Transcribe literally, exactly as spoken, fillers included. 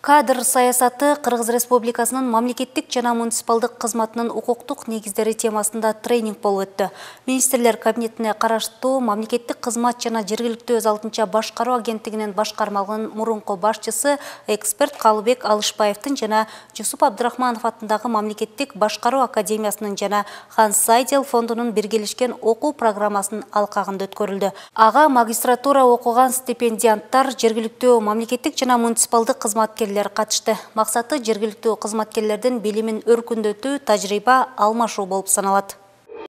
Кадр саясаты Кыргыз Республикасынын мамлекеттик жана муниципалдык кызматынын укуктук негиздери темасында тренинг болуп өттү. Министрлер кабинетине караштуу мамлекеттик кызмат жана жергиликтүү өз алдынча башкаруу агенттигинин башкармалыгынын мурунку башчысы эксперт Калыбек Алышбаевдин жана Жусуп Абдрахманов атындагы мамлекеттик башкаруу академиясынын жана Ханс Сайдел фондунун биргелешкен окуу программасынын алкагында өткөрүлдү. Ага магистратура окуган стипендианттар, жергиликтүү мамлекеттик жана муниципалдык кызматкерлер катышты. Максаты жергиликтүү кызматкерлердин билимин өркүндөтүү, тажрыйба алмашуу болуп саналат.